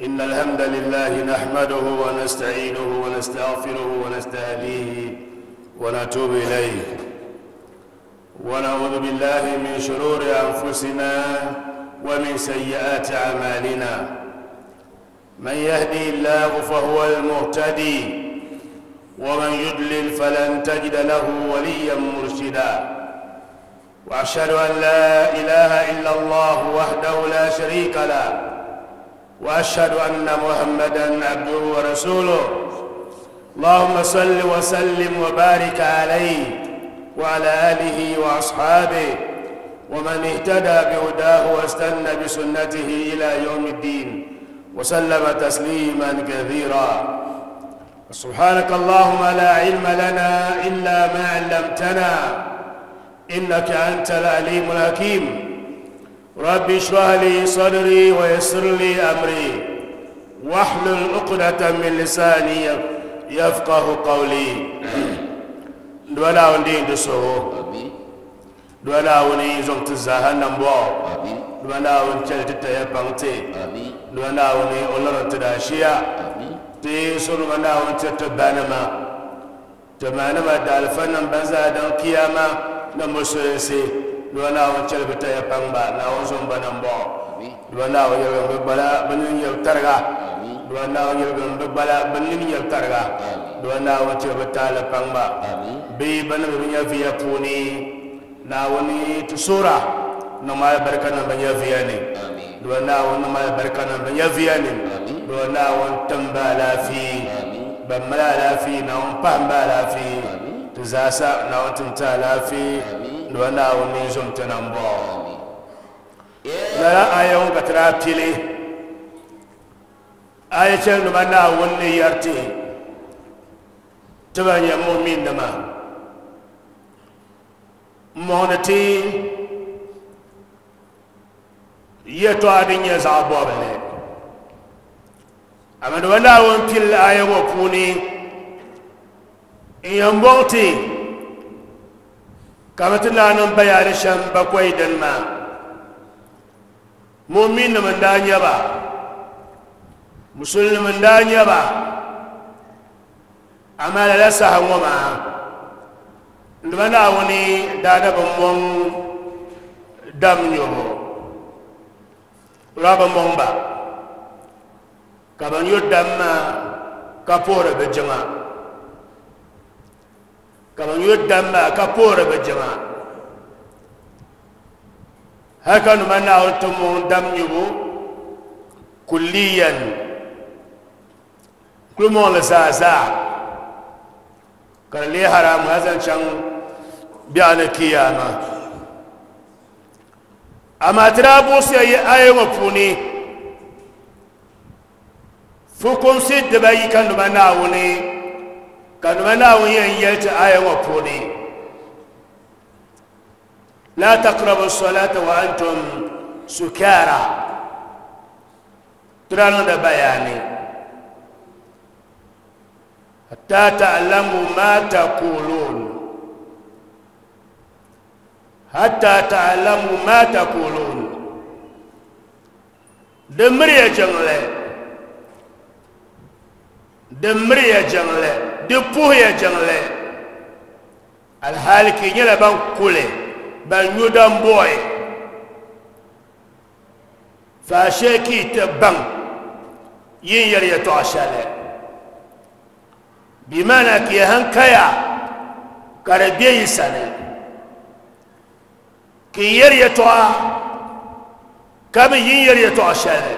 إن الحمد لله نحمده ونستعينه ونستغفره ونستهديه ونتوب إليه ونعوذ بالله من شرور أنفسنا ومن سيئات أعمالنا من يهدي الله فهو المهتدي ومن يضلل فلن تجد له وليا مرشدا واشهد ان لا اله الا الله وحده لا شريك له واشهد ان محمدا عبده ورسوله اللهم صل وسلم وبارك عليه وعلى اله واصحابه ومن اهتدى بهداه واستنى بسنته الى يوم الدين وسلم تسليما كثيرا سبحانك اللهم لا علم لنا الا ما علمتنا انك انت العليم الحكيم رب اشرح لي صدري ويسر لي امري واحلل عقدة من لساني يفقه قولي دولا وندين دسو دولا وني زوم تزاها نمبو دولا ون چل تتaya paŋti دولا وني oloro tidashiya ti sunu na won ti banima ti manima daalifanim ban zaa din kiyama ni musulinsi dua naawuni chɛli bi taya paŋ ba naawuni zom ba nambɔɣu dua naawuni yɛlgim bi gbala bi nini nyɛbu tariga dua naawuni yɛlgim bi gbala bi nini nyɛbu tariga dua naawuni chɛli bi taali paŋ ba bee ba ni bi nyɛviya puuni naawuni ti suura niŋ alibarika niŋ bi nyɛviya ni dua naawuni niŋ alibarika niŋ bi nyɛviya ni dua naawuni tim ba alaafee ban mali alaafee naawuni pahim ba alaafee ti zaasa naawuni tim ti alaafee dua naawuni zom ti nambɔɣu lala aya ŋɔ ka ti daa pili aya shɛli nima naawuni ni yɛri ti ti ban nyɛ mu'min-nima m-mɔŋdi ti yɛtɔɣa din nyɛ zaɣ bɔbili amaa nima naawuni pili aya ŋɔ puuni n yɛn bɔŋ ti ka bɛ ti naan niŋ bayaani shɛm bakɔi dini maa mu'min-nim n-daa nyɛ ba musulnim n-daa nyɛ ba amaa lala saha ŋɔ maa nima naawuni daa na bi mɔŋ dam nyubu o daa bi mɔŋ ba ka bɛ nyu dam maa ka puhiri bɛ jiŋa ka bɛ nyu dam maa ka puhiri bɛ jiŋa hali ka nima naawuni ti mɔŋ dam nyubu kulliyan kuli mɔŋ li zaa zaa ka di leei haramu hali zaŋ chaŋ biɛɣuni kiyama amaa ti daa buɣisiya yi aya ŋɔ puuni fukumsi dibayi ka numa naawuni ka numa naawuni yɛn yɛli ti aya ŋɔ puuni la taqrabu salata wa antum sukara ti daa niŋdi bayaani hatta ta'lamu ma taqulun hatta ta'lamu ma taqulun di miriya jiŋli di miriya jiŋli di puhiya jiŋli alhali ka yi nyɛla ban kuli ban nyu dambuɣi faashee ka yi ti baŋ yi ni yɛri yɛtɔɣa shɛli bimana ka yi hankaya ka di be yi sani ka yi yɛri yɛtɔɣa ka bi yi ni yɛri yɛtɔɣa shɛli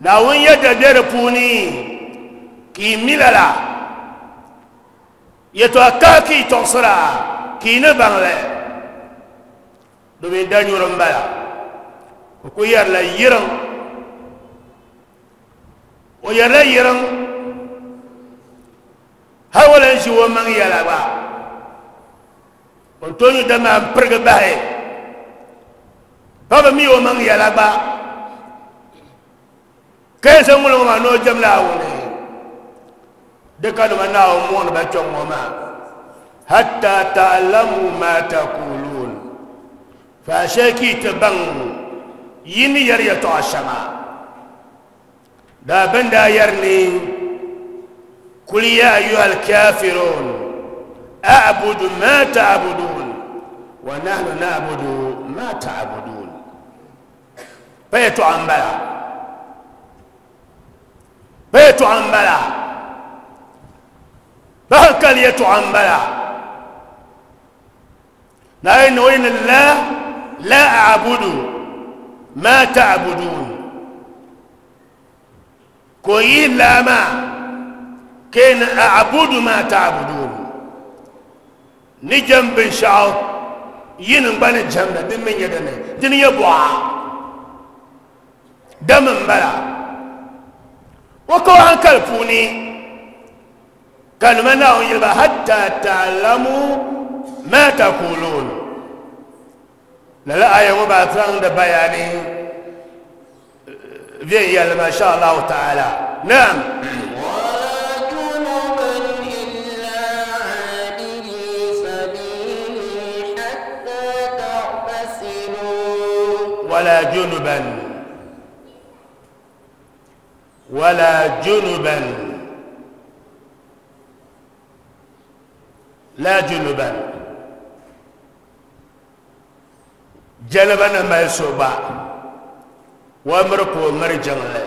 Naawuni yɛda be di puuni ka yi mi lala yɛtɔɣa kahi ka yi tɔɣisira ka yi ni baŋ li domin danyuri m-bala o ku yɛrila yiriŋ o yɛrila yiriŋ hali o lan ʒi o maŋ yɛla gba o ni tooi nyu dama m-pirigi bahi pa bi mi o maŋ yɛla gba ka yɛn zaŋ ŋuli ŋɔ maa ni o jɛm Naawuni di ka nima Naawuni muɣini ba kpɛŋ ŋɔ maa hatta ta'lamu ma taqulun faashee ka yi ti baŋ Yi ni yɛri yɛtɔɣa shɛŋa daa bɛn daa yɛri ni kul ya ayuha alkafirun a'budu ma ta'budun wa nahnu na'budu ma ta'budun. Pa yɛtɔɣa m-bala, pa yɛtɔɣa m-bala, pa hankali yɛtɔɣa m-bala. Naawuni o ni la la a'budu ma ta'budun ka o yihi laa maa ka ni a'budu ma ta'budun ni jɛm binshɛɣu yinim gba ni jɛmda din mi nyɛ dini dini nyɛ buɣa dam n bala o ka o hankali puuni Kalima Naawuni yɛli ba, Hatta ta'lamu ma taqulun. Lala aya ŋɔ maa zaŋdi bayani viɛnyɛlima insha Allahu ta'ala. Naam. ولا جنبا Wala junuban. Wala junuban. La junuban. Janaba ni mali so gba, o miri ka o miri jiŋli.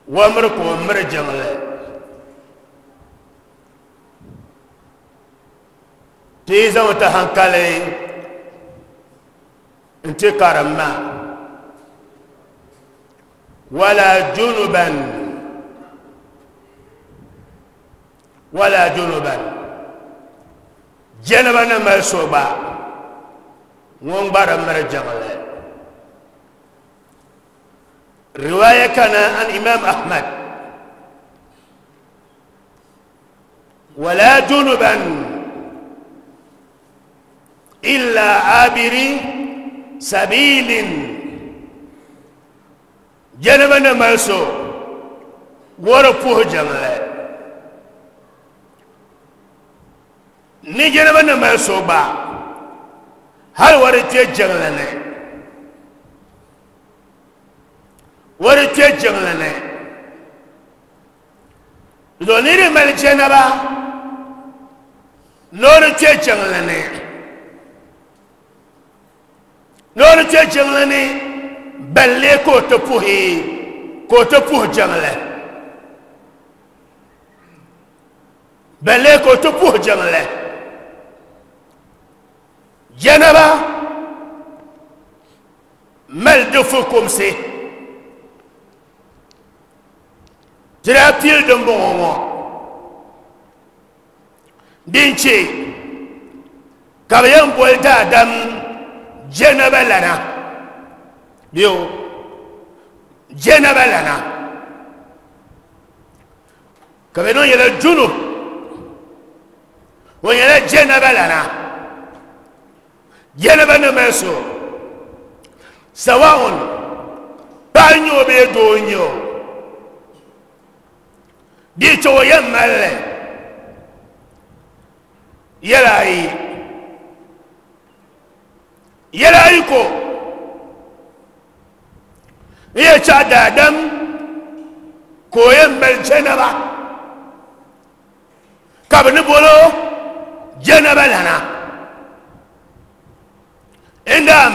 O miri ka o miri jiŋli. Ti yi zaŋ ti hankali n-ti karim maa. Wala junuban. Wala junuban. Janaba ni mali so gba, ŋun gba di miri jiŋli. Riwaya kana an Imam Ahmad. Wala junuban illa abiri sabilin. Janaba ni mali so, wari puhi jiŋli. Ni janaba ni mali so gba, hali wari kpe jiŋli ni. Wari kpe jiŋli ni. Do ni di mali janaba, ni o di kpe jiŋli ni. Ni o di kpe jiŋli ni, balle ka o ti puhi, ka o ti puhi jiŋli. Balle ka o ti puhi jiŋli. Janaba mali di fukumsi. Ti daa pili dimbɔŋɔ ŋɔ din che ka bɛ yɛn boli daadam janaba lana. Bɛ o janaba lana. Ka bɛ niŋ nyɛla junub. O nyɛla janaba lana. Janaba ni mali so. Sawa'un paɣa n-nyɛ o bee doo n-nyɛ o. Di che o yɛn mali li yɛla ayi. Yɛla ayi ko n yɛ chaɣ daadam ka o yɛn mali janaba ka bɛ ni bolo janaba lana. Indam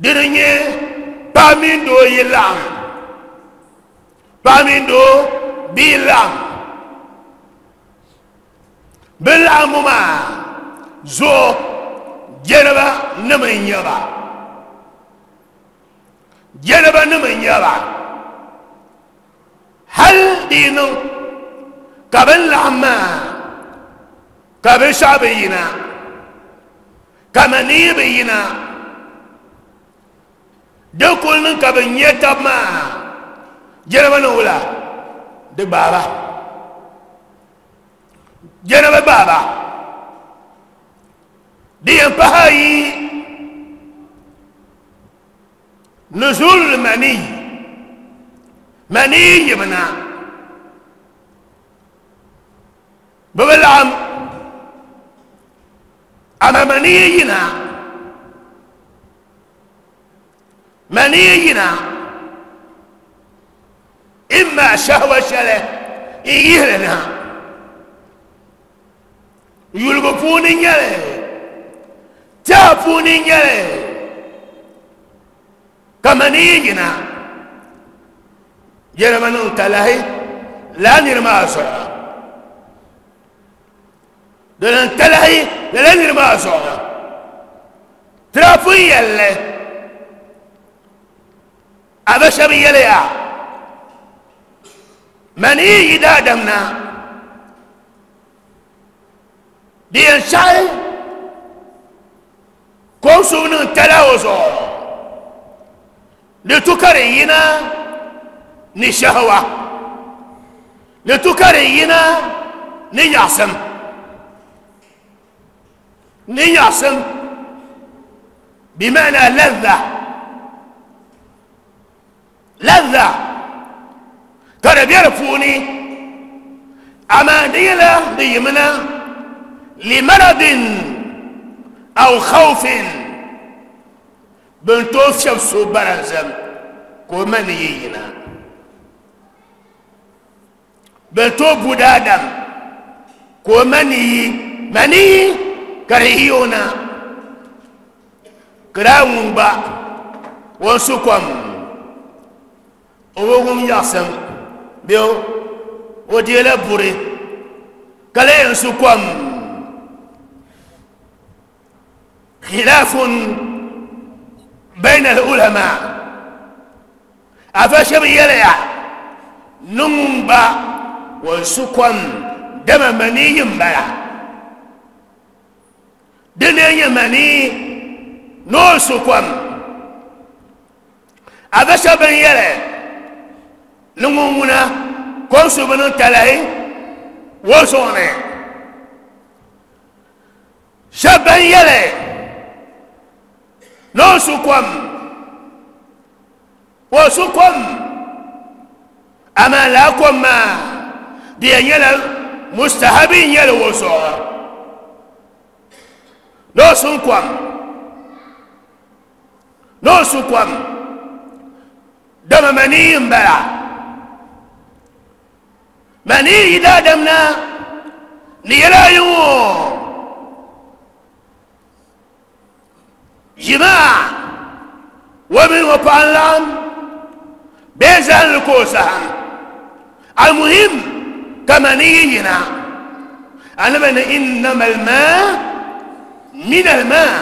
di di nyɛ paɣa mini doo yi laɣim, paɣa mini doo bi yi laɣim, bɛ laɣimbu maa zuɣu janaba nim n-nyɛ ba. Janaba nim n-nyɛ ba. Hal di yi niŋ ka bɛ laɣim maa ka binshɛɣu bi yina, ka manii bi yina, di kuli niŋ ka bɛ nya tab maa janaba ni wula di gbaai ba. Janaba gbaai ba. Di yɛn pahi ayi nuzul mani, mani yibina bɛ bi laɣim, amaa mani yina. Mani yina imma shahwa shɛli n yihili na yuligu puuni nyɛli tɛha puuni nyɛli ka mani yina yɛlima niŋ talahi laa niri maa zuɣu di niŋ talahi lala niri maa zuɣu tira pun yɛlli a ba shɛba yɛliya mani yi yi daadam na di yɛn saɣi ka o suhu niŋ tala o zuɣu di tu ka di yina ni shahawa di tu ka di yina ni nyaɣasim ni nyaɣasim bimana ladha ladha ka di bɛ di puuni amaa di nyɛla di yimina limaradin aw khawfin bin tooi fiɛbi so baranzam ka o ma ni yi yina Bɛ tooi bu daadam ka o maniyi maniyi ka di yi o na ka daa ŋun gba o ni su kom o bi wum yaɣisim bee o deela buri ka lee yɛn su kom khilaafun bayna al-ulama Afa shɛba yɛliya ni ŋun gba o su kom dama maniyi m-bala. Di lee nyɛ manii ni o su kom. Afa shɛba bɛn yɛli ni ŋun ŋuna kom subu niŋ talahi o zuɣu ni. Shɛba bɛn yɛli ni o su kom o su kom amaa laa kom maa di yɛn nyɛla mustahabi n nyɛli o zuɣu ni o sun kom ni o su kom dama manii n bala manii yi daadam na ni yɛla ayi ŋɔ Jimaa o mini o paɣa n laɣim bee zahimli ka o zahim almuhim ka mani yi yina anabi ni innama almaa min almaa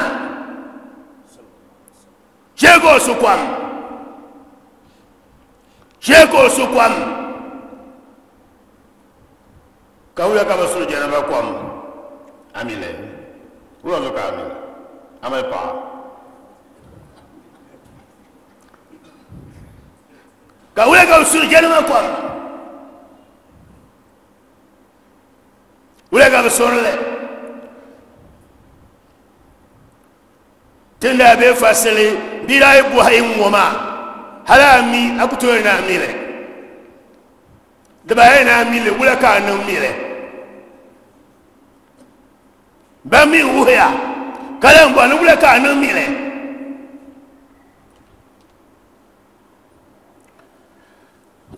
chɛ ka o su kom chɛ ka o su kom Ka wuya ka bi suri janaba kom amile wuya zo ka amile amali paɣa ka wuya ka bi suri janaba kom wuya ka bi surili Tin daa be fasili bia daa yi bɔhi n-ŋɔ maa hali a mi a ku tooi ni a mi li. Di bahi ni a mi li wula ka a niŋ mi li? Ban mi wuhiya ka lan bɔhi ni wula ka a niŋ mi li?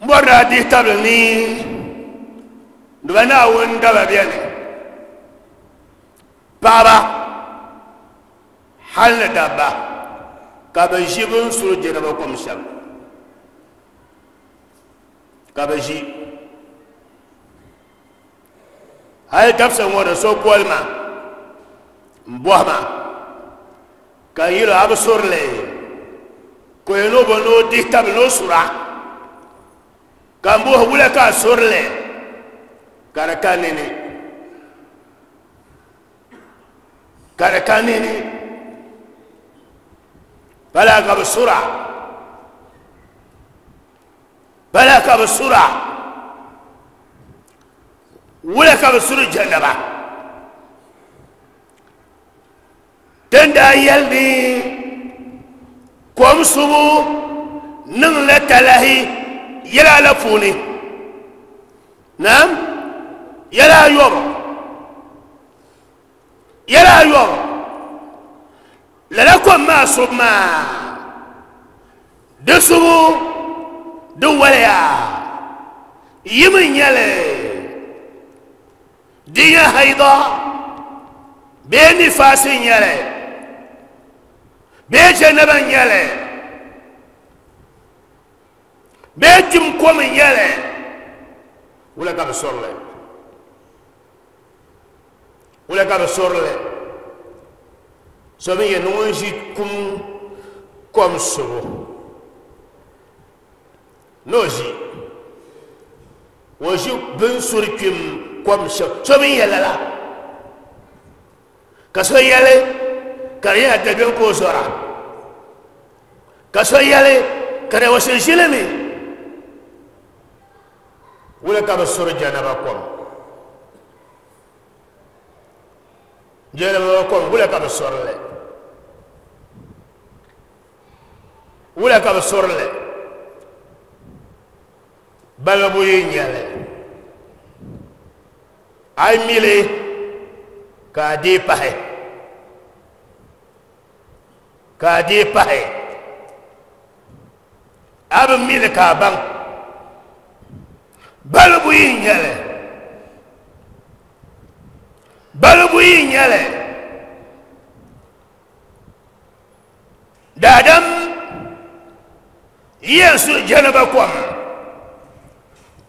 M bɔri ni a dihi tabili ni di ba Naawuni daba beni. Paɣaba hali ni dabba ka bi ʒi bin suri jɛriba kom shɛm ka bi ʒi hali dabisa ŋɔ di so boli ma n bɔhi ma ka n yɛli a bi surili ka o yɛn ni o bo ni o dihi tabili ni o sura ka n bɔhi wula ka a surili ka di ka nini ka di ka nini pala ka bi sura pala ka bi sura wula ka bi suri jɛnnaba din daa yɛli ni kom subu niŋla talahi yɛla la puuni Naam, yɛla ayɔbu, yɛla ayɔbu, lala kom maa subu maa Di subu di waliya yim n-nyɛ li di nyɛ haida bee nifaasi n-nyɛ li bee janaba n-nyɛ li bee kpim kom n-nyɛ li wula ka bi suri li wula ka bi suri li so mi yɛn ni ŋun ʒi kum kom subu ni o ʒi o ʒi bin suri kpim kom shɛm so mi yɛn lala ka so yɛli ka di nyɛla dabiɛm ka o zɔra ka so yɛli ka di o shiri ʒilimi wula ka bi suri janaba kom janaba kom wula ka bi suri li wula ka bi suri li balibu yi nyɛli a yi mili ka a dee pahi ka a dee pahi a bi mili ka a baŋ balibu yi nyɛli balibu yi nyɛli Daadam yi yɛn su jɛnaba kom,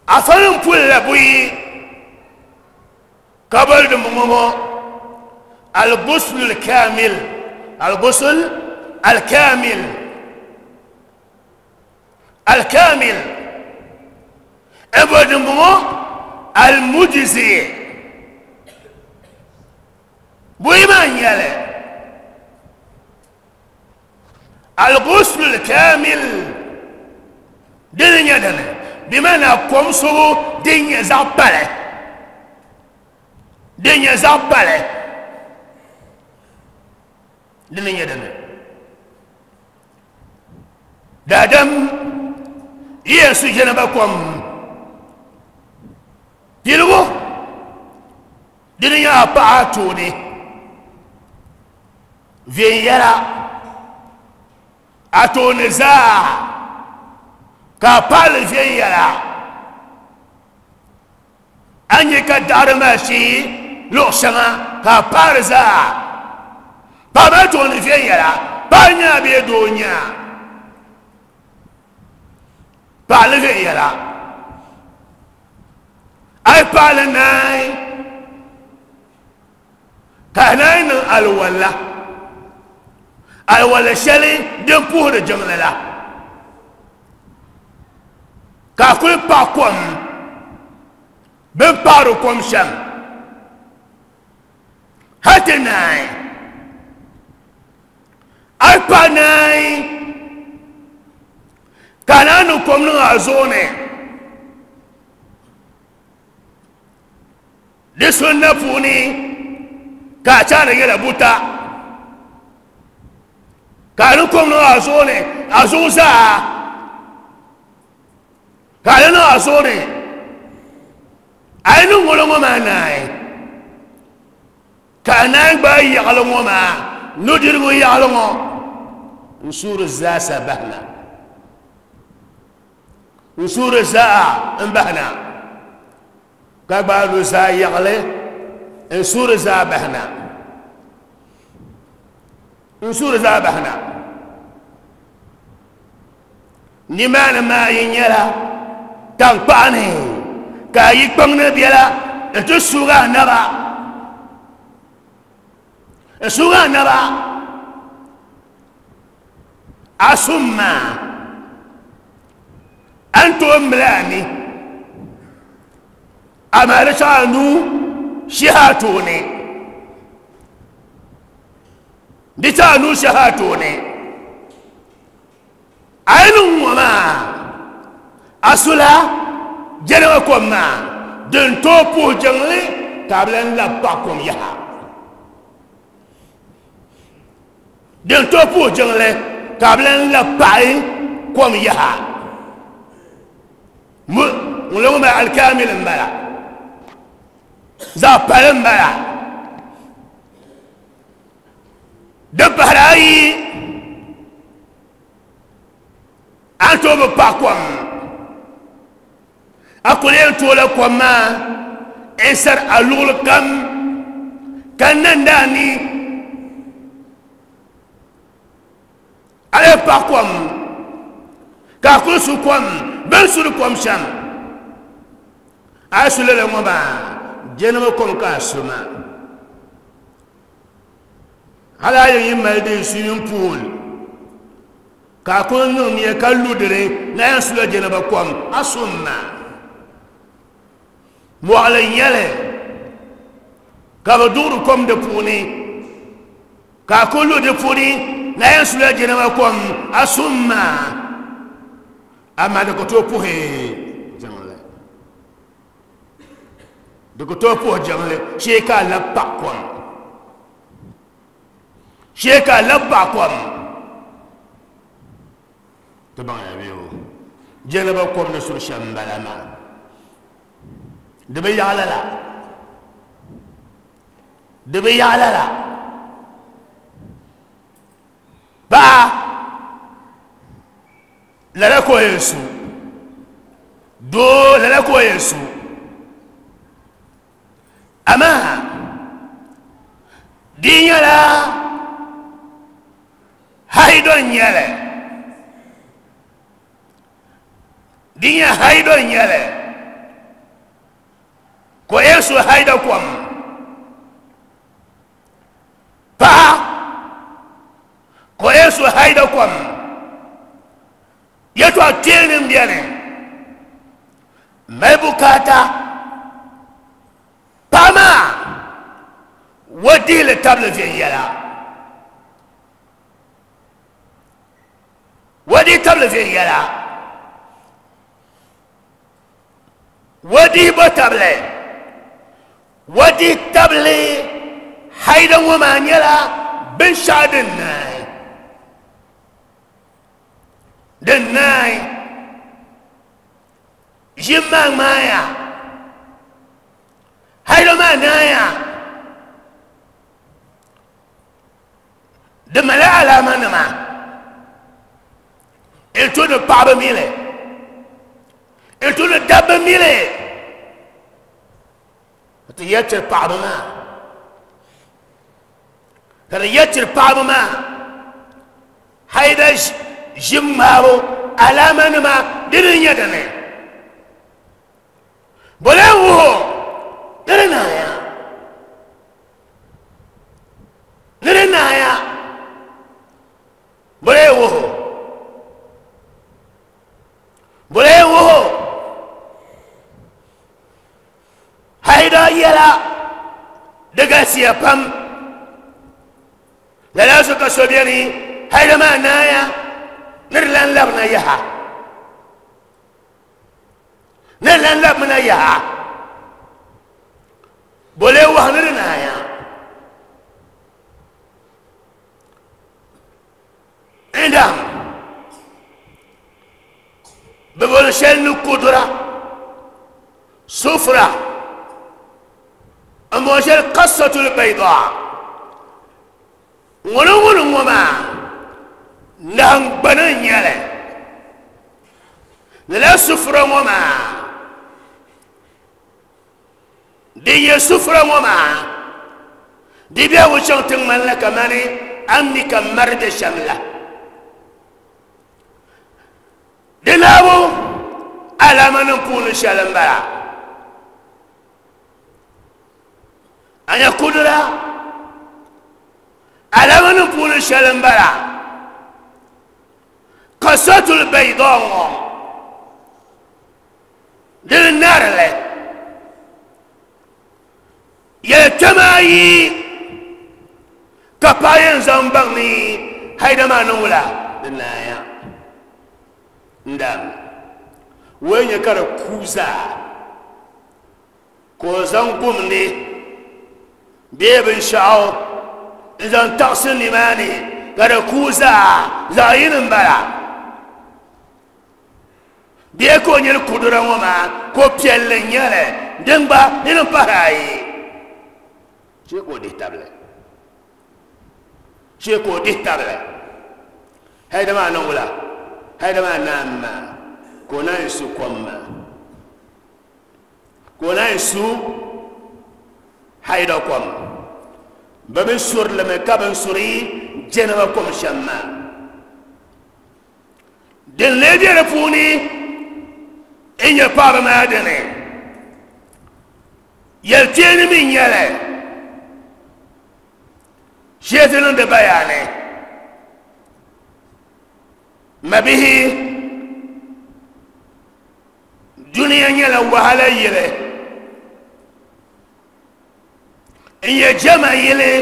afa nim pulila buyi ka boli dimbɔŋɔ ŋɔ al-ghusl al-kamil, al-ghusl al-kamil, al-kamil. N boli dimbɔŋɔ al-mujzi. Buyi maa n-nyɛli al-ghusl al-kamil dini nyɛ dini bimana kom subu din nyɛ zaɣ pali din nyɛ zaɣ pali dini nyɛ dini daadam yi yɛn su janaba kom piligu Di ni nyɛ a paɣa tooni viɛnyɛla a tooni zaa ka a paɣali viɛnyɛla a nyɛ ka daɣari maa shee luɣu shɛŋa ka a paɣari zaa paɣa maa tooni viɛnyɛla paɣa nyaa bee doo nyaa paɣali viɛnyɛla A yi paɣali naai ka a naai niŋ alwala, alwala shɛli din puhiri jiŋli la, ka a kuli paɣi kom bɛ ni paɣiri kom shɛm hal ti naai. A yi paɣi naai ka a naan niŋ kom niŋ a zuɣu ni di sunna puuni ka a chaani yɛla buta ka a niŋ kom niŋ a zuɣu ni a zuɣu zaa ka a niŋ a zuɣu ni a yi niŋ ŋolo ŋɔ maa naai Ka a naan gbaai yaɣili ŋɔ maa, nudirigu yaɣili ŋɔ, n-suuri zaasa bahi na. N-suuri zaa m-bahi na. Ka gbaai nuzaa yaɣili n-suuri zaa bahi na. N-suuri zaa bahi na. Nimaani maa yi nyɛla taŋkpaɣu ni ka a yi kpaŋ ni biɛla n-ti suug a naba, n-suug a naba a sum maa, a ni tooi mili a ni, amaa di chaŋ a nuu shihi a tooni, di chaŋ a nuu shihi a tooni. A yi niŋ ŋɔ maa, a sula jɛriŋa kom maa din tooi puhi jiŋli ka a bi lan labi paɣi kom yaha. Din tooi puhi jiŋli ka a bi lan labi paɣi kom yaha. Ŋun ŋɔ maa alikaamil m-bala, zaɣ pali m-bala. Din pahiri ayi. A ni tooi bi paɣi kom, a kuli yɛn toola kom maa n sari a luɣuli kam ka nandi a ni. A yɛn paɣi kom ka a kuli su kom bɛ ni suri kom shɛm. A yi su lala ŋɔ maa, jɛnima kom ka a su maa. Hali a yi mali din swimming pool ka a kuli niŋ nia ka lu dini na yɛn sula jɛnaba kom a sum maa. Mɔɣili n nyɛli ka bi duɣiri kom di puuni ka a kuli lu di puuni na yɛn sula jɛnaba kom a sum maa, amaa di ku tooi puhi jiŋli. Di ku tooi puhi jiŋli shee ka a labi paɣi kom, shee ka a labi paɣi kom. Ti baŋya bee o jɛnaba kom ni suri shɛm m-bala maa, di bi yaɣi lala, di bi yaɣi lala. Paɣa lala ka o yɛn su, doo lala ka o yɛn su. Amaa di nyɛla haido n-nyɛli, di nyɛ haido n-nyɛli ka o yɛn su haida kom. Paɣa ka o yɛn su haida kom. Yɛtɔɣa kpeeni n bɛni mali bukaata paɣa maa o dihili tabili viɛnyɛla, o dihi tabili viɛnyɛla, o dihi bo tabili, o dihi tabili haida ŋɔ maa nyɛla binshɛɣu din naai. Din naai ʒim maa ŋmaaya, hailo maa naaya, di mali alaama nima n tu ni paɣaba mili n tu ni dabba mili ti yɛ tiri paɣaba maa ka di yɛ tiri paɣaba maa Haida ʒim ŋmaabu alaamanima dini n-nyɛ dini? Bole n-wuhi o ni di naaya? Ni di naaya? Bole n-wuhi o? Bole n-wuhi o? Haida yɛla di galisiya pam. Lala zuɣu ka so beni hali maa naaya ni di lan labina yaha, ni di lan labimina yaha, bɔ lee wahu ni di naaya? N-dam bɛ boli shɛli ni kudura sufra n bɔŋɔ shɛli kasatul bayda ŋuni ŋuni ŋɔ maa nahingbana n nyɛli lala sufura ŋɔ maa din nyɛ sufura ŋɔ maa di biɛhigu chaŋ ti ŋmanila kamani a ni mi ka mari bɛ shɛm la di naabu alaamanim puuni shɛli n bala A nya kudura alaamanim puuni shɛli n bala kasatul bayda ŋɔ dini narili yɛltɛma ayi ka paɣa yɛn zaŋ baŋ ni haida maa niŋ wula di naaya n dam wee nyɛ ka di ku zaa Ka o zaŋ gumdi bee binshɛɣu n-zaŋ taɣisi nimaani ka di kuui zaa zaɣ yini m-bala. Bee ka o nyili kudura ŋɔ maa ko piɛlli n-nyɛ li, din gba ni niŋ pahiri ayi. Shee ka o dihi tabili. Shee ka o dihi tabili. Hali di maa niŋ wula? Haida maa naan maa ka o naan su kom maa, ka o naan su haida kom. Bɛ bi suri li mi ka bɛ ni suri jɛnaba kom shɛm maa. Din lee be di puuni n-nyɛ paɣaba maa dini. Yɛlkpeeni mi n-nyɛ li. Shee ti niŋdi bayaani. Mabihi, dunia nyɛla wahala yili. N-nyɛ jɛma yili.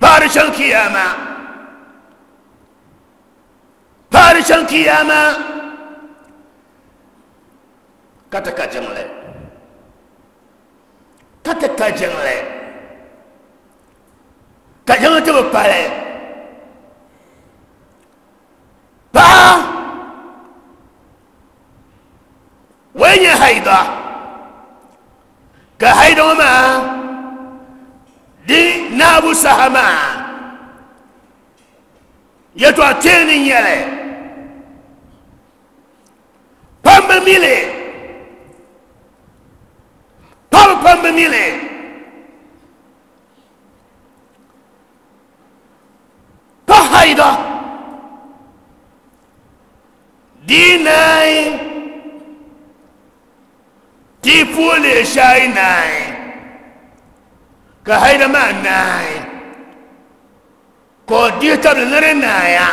Paɣiri chaŋ kiyama. Paɣiri chaŋ kiyama. Ka ti ka jiŋli. Ka ti ka jiŋli. Ka jiŋli ti bi pali. Paɣa wai nyɛ haida. Ka haida ŋɔ maa di naabu saha maa yɛtɔɣa kpeeni n nyɛli. Pam bi mi li. Paɣaba pam bi mi li. Pa haida di naai ti puuli shai naai ka haida maa naai ka o dihi tabili ni di naaya.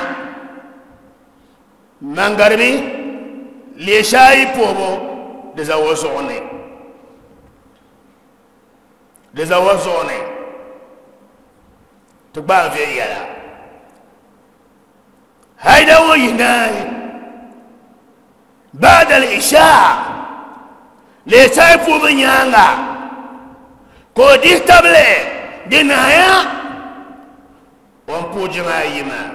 Maŋgarimi leeshaayi puhibu di za o zuɣu ni. Di za o zuɣu ni. Ti gbaai viɛnyɛla. Haida ŋɔ yi naai baada al-isha leeshaayi puhibu nyaaŋa ka o dihi tabili di naaya o ni puhi jiŋa ayi maa.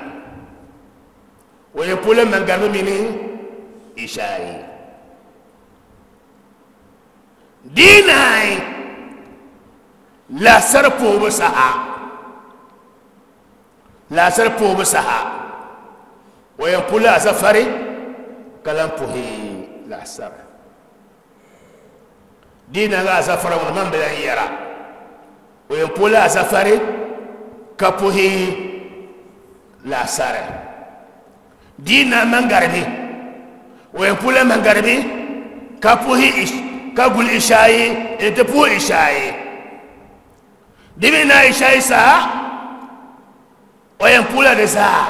O yɛn puhila maŋgaribi mini Ishaayi. Di naai laasari puhibu saha, laasari puhibu saha, o yɛn puhila azafari ka lan puhi laasari. Di naai azafari ŋuni man bi lan yɛra, o yɛn puhila azafari ka puhi laasari. Di na maŋgaribi, o yɛn puhila maŋgaribi ka puhi ka guli ishaayi n-ti puhi ishaayi. Di mi na ishaayi saha, o yɛn puhila di zaa.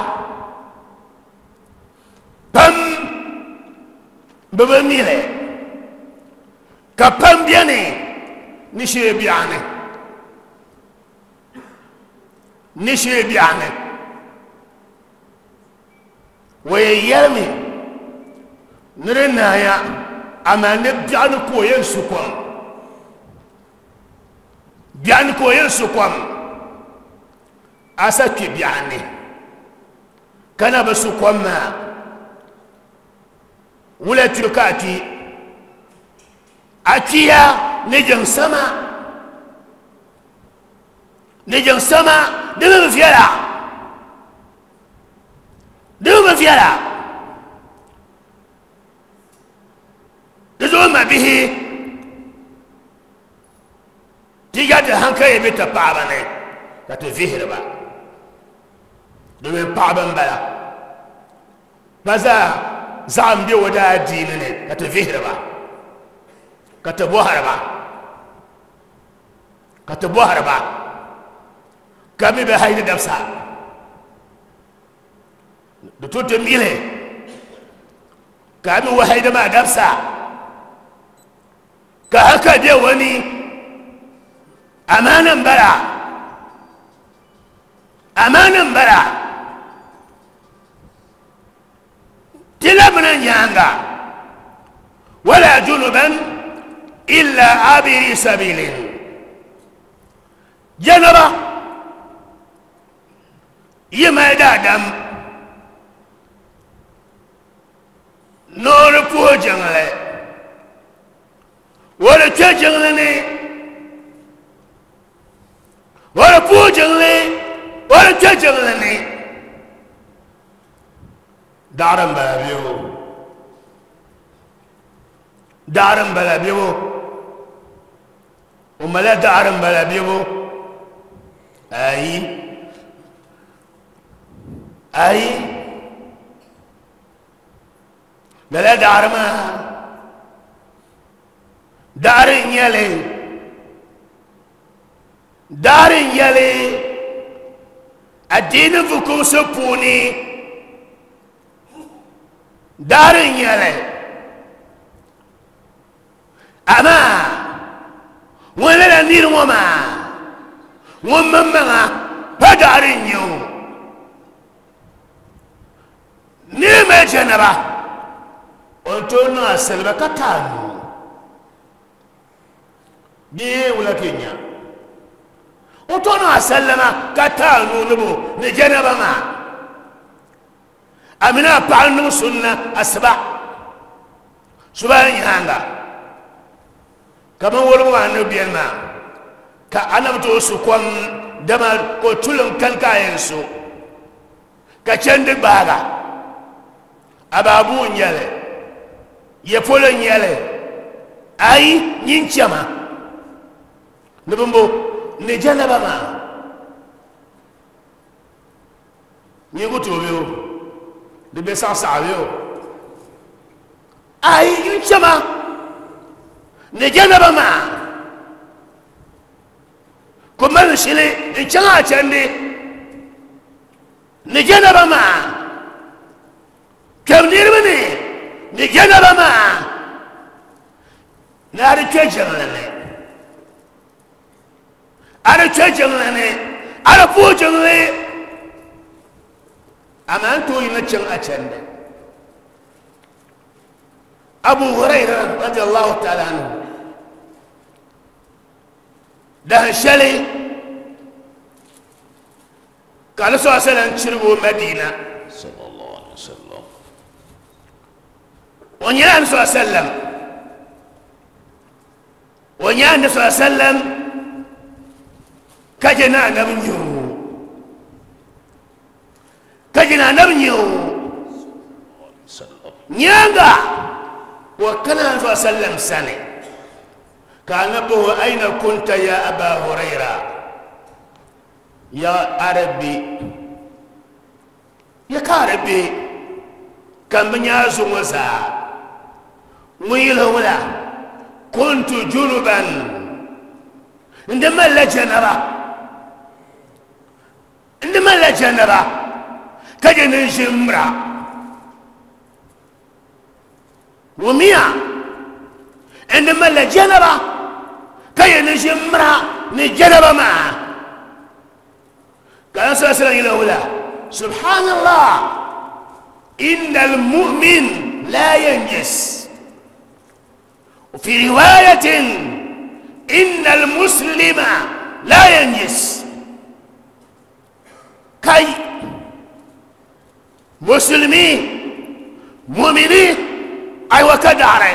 Pam bi bi mi li, ka pam beni ni shee biɛɣu ni. Ni shee biɛɣu ni. O yɛn yɛlimi ni di naaya, amaa ni biɛɣu ni ka o yɛn su kom. Biɛɣu ni ka o yɛn su kom. A sa kpi biɛɣu ni ka na bi su kom maa, wula kpibu ka a kpi? A kpiya ni jiŋ sama. Ni jiŋ sama di mi bi viɛla. Di mi bi viɛla. Di zuɣu mabihi ti ya ti hankali bɛ ti paɣaba ni ka ti vihiri ba. Domin paɣaba n bala ba zaa zaɣim bɛ o daa diini ni ka ti vihiri ba ka ti bɔhiri ba ka ti bɔhiri ba ka mi bɛ haidi dabisa di to ti mili ka mi wa haidi maa dabisa ka haka bɛ wani amaana n bala amaana n bala ti labina nyaanga wala junuban illa abiri sabilin janaba yi mali daadam noori puhi jiŋli o di kpe jiŋli ni o di puhi jiŋli o di kpe jiŋli ni Daɣiri m-bala bebo. Daɣiri m-bala bebo. O malila daɣiri m-bala bebo. Ayi. Ayi. Lala daɣiri maa daɣiri n-nyɛ li. Daɣiri n-nyɛ li adiini fukumsi puuni. Daɣiri n-nyɛ li. Amaa ŋun lala niri ŋɔ maa ŋun maŋmaŋa pa daɣiri n-nyɛ o. Niri mali janaba o ni tooi niŋ a saliba ka ti a nuu. Bee wula ka yi nya? O tooi niŋ a sallama ka ti a nuu ni bo ni janaba maa. A mini a paɣa niŋ sunna asiba subahi nyaaŋa kaman woligu maa ni beni maa ka a na bi tooi su kom dama ko tulim kani ka a yɛn su ka chandi gbaaga a baabuu n nyɛli ya polo n nyɛli ayi nyin chɛma ni bimbo ni janaba maa nyin ku tooi bɛ o di bɛ saɣasaɣa bɛ o ayi nyin chɛma ni janaba maa ku mali shili n chaŋ a chandi ni janaba maa kpɛm niriba ni ni janaba maa ni a di kpɛ jiŋli ni a di kpɛ jiŋli ni a di puhi jiŋli amaa n tooi yina chaŋ a chandi Abu Huraira radiallahu ta'ala anhu dahin shɛli ka Ali sallallahu alaihi wasallam chirigi o Madina sallallahu alaihi wasallam o nyɛla Ali sallallahu alaihi wasallam o nyɛ anabi sallallahu alaihi wasallam ka je na anabi nyɛ o ka je na anabi nyɛ o nyaaŋa o kana anabi sallallahu alaihi wasallam sani ka anabi o aina kunta ya aba huraira ya arabi Ya ka di be ka m bi nya a zuŋɔ zaa? Ŋun yɛli wula, Kuntu junuban, n di malila janaba, n di malila janaba ka je ni n ʒi m mira. Wumiya, n di malila janaba ka je ni n ʒi m mira ni janaba maa. Ka Annabi sallallahu alaihi wasallam yɛli wula, Subhanallah, innal mu'min la yanjis. Fi riwayatin, innal muslima la yanjis. Kai, musulmi, mumini, ai wa ka daɣiri,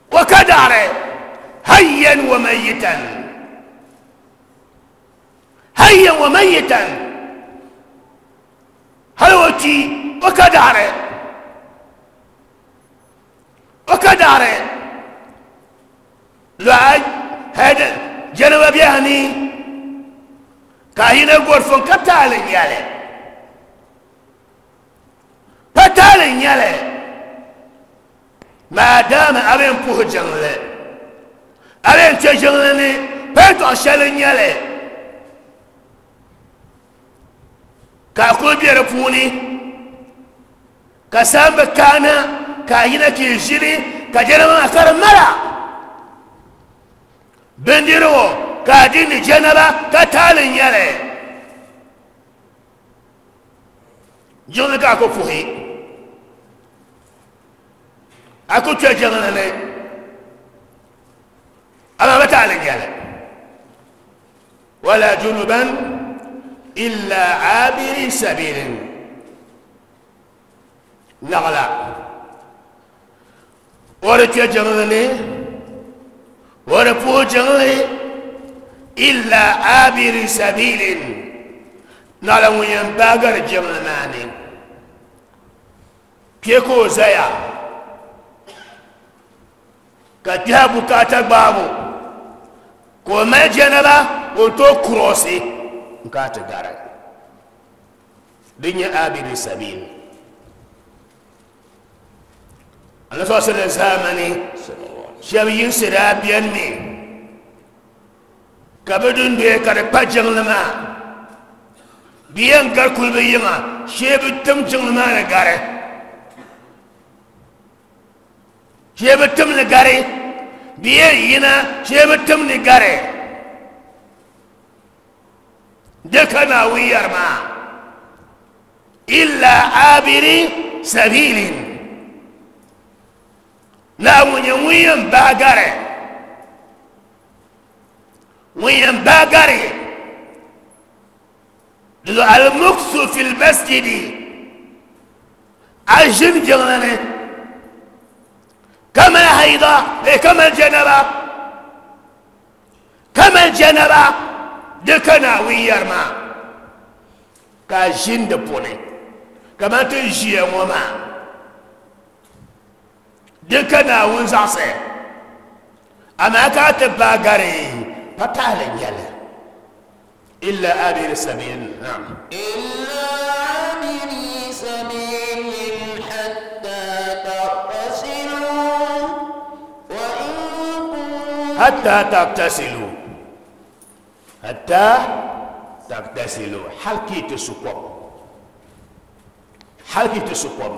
wa ka daɣiri, hayyan wa mayitan. Hayyan wa mayitan hali o kpi o ka daɣiri o ka daɣiri lɔha hɛdi jɛnaba biɛhi ni ka a yina gɔrifo ka taali nyɛli pa taali nyɛli Maadama a bɛn puhi jiŋli, a bɛn kpe jiŋli ni payitɔɣ shɛli n-nyɛ li ka a kul be di puuni, ka saamba kaana ka a yina ka yi ʒini ka jɛra maa ka di mala bindirigu ka a di ni jɛnaba ka taali n-nyɛ li. Jiŋli ka a ku puhi. A ku kpe jiŋli ni amaa bi taali nyɛli wala junuban illa abiri sabilin naɣila o di kpe jiŋli ni o di puhi jiŋli illa abiri sabilin naɣila ŋun yɛn baagari jiŋli maa ni. Kpe ka o zaya ka kpɛha bukaata gbaabu ka o mali janaba o ni tooi kuroosi n kana ti gari. Din nyɛ abiri sabil. Anabi sallallahu alaihi wasallam zaamani shɛba yinsi daa beni mi ka bɛ dundoya ka di kpa jiŋli maa. Bɛ yɛn gari kuli bɛ yiŋa shee bɛ tim jiŋli maa ni gari. Shee bɛ tim ni gari. Bɛ yɛn yina shee bɛ tim ni gari. Di ka Naawuni yɛri maa illa abiri sabilin Naawuni nyɛ ŋun yɛn baai gari ŋun yɛn baai gari di al-muksu fil masjidi a ʒini jiŋli ni ka mali haida eh, ka mali janaba ka mali janaba di ka Naawuni yɛri maa ka a ʒini di puuni kamani ti ni ʒiya ŋɔ maa di ka Naawuni zaɣisi amaa ka a ti baai gari pa tahili n-nyɛli illa abiri sabil naam إلا عابري سبيل حتى تغتسلوا وإن كنتم حتى تغتسلوا حتى تغتسلوا hal ka yi ti su kom hal ka yi ti su kom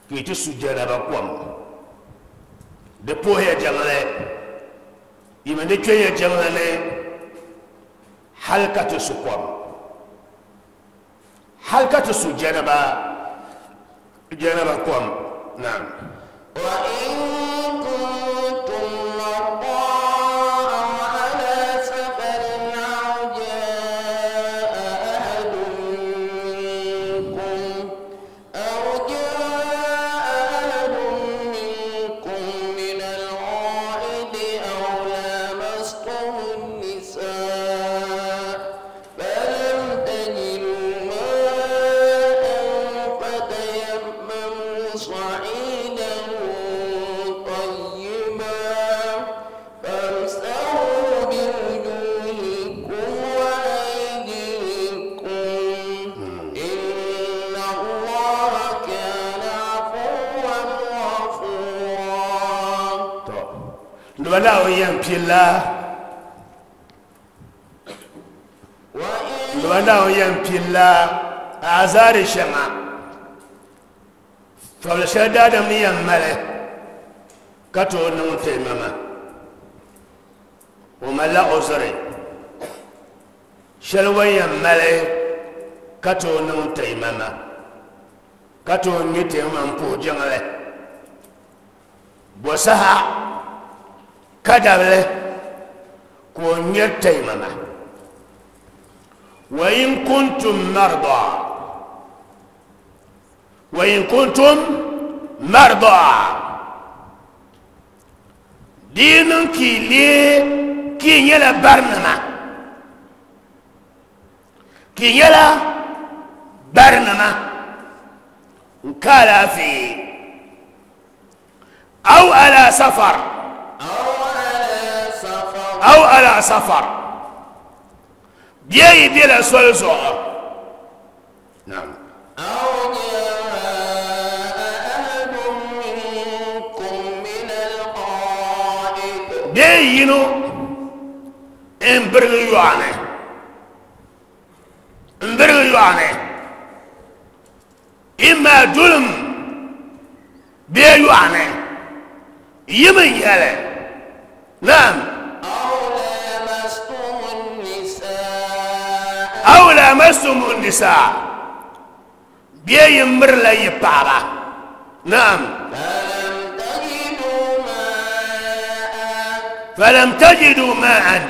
ka yi ti su janaba kom di puhiya jiŋli yi mi di kpɛnya jiŋli ni hal ka ti su kom hal ka ti su janaba janaba kom naam وإن كنتم مرضى أو على سفر أو جاء أحد منكم أو جاء أحد منكم من الغائط أو لامستم النساء فلم تجدوا ماء فتيمموا صعيدا طيبا فامسحوا بوجوهكم وأيديكم إن الله كان عفوا غفورا. To noba Naawuni yɛn pilla وإن noba Naawuni yɛn pilla azaari shɛŋa fabili shɛli daadam ni yɛn mali ka tooi niŋ taimama o malila uzuri shɛli o ni yɛn mali ka tooi niŋ taimama ka tooi ŋmɛ taimama m-puhi jiŋli bɔ saha ka dabili ka o ŋmɛri taimama wa in kuntum marda wa in kuntum marda di yi niŋ ka yi lee ka yi nyɛla barinima ka yi nyɛla barinima n ka alaafee aw ala safar أو على سفر aw ala safar bee yi bela soli zuɣu naam أو جاء أحد منكم من الغائط bee yino n birigi yɔɣuni n birigi yɔɣuni imma dulum bee yɔɣuni yim n nyɛli naam أو لامستم النساء aw lamastum nisaa bee yi mirila yi paɣaba naam فلم تجدوا ماء falam tajidu ma'an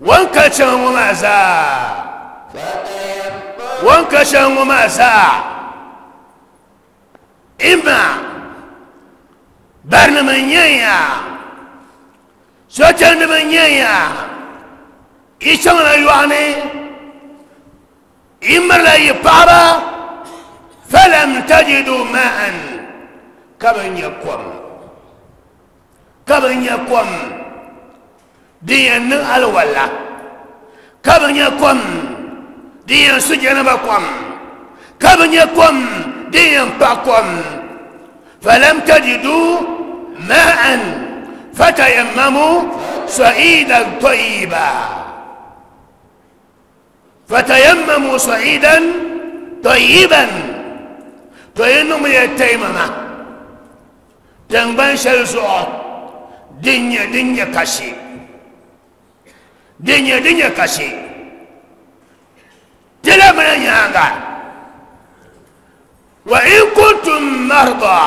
wanka chaŋ ŋɔ maa zaa فتيمموا wanka chaŋ ŋɔ maa zaa imma barinima n-nyɛ ya sochandima n-nyɛ ya yi chaŋla yɔɣuni yi mirila yi paɣaba Falam tajidu ma'an, ka bi nya kom, ka bi nya kom din yɛn niŋ alwala, ka bi nya kom din yɛn su janaba kom, ka bi nya kom din yɛn paɣi kom. Falam tajidu ma'an fatayammamu sa'idan tayyiba. Fatayammamu sa'idan tayyiban. To yi niŋmiya taimama tiŋgbani shɛli zuɣu din nyɛ din nyɛ kasi, din nyɛ din nyɛ kasi. Ti lamina nyaaŋa, wa in kuntum marda,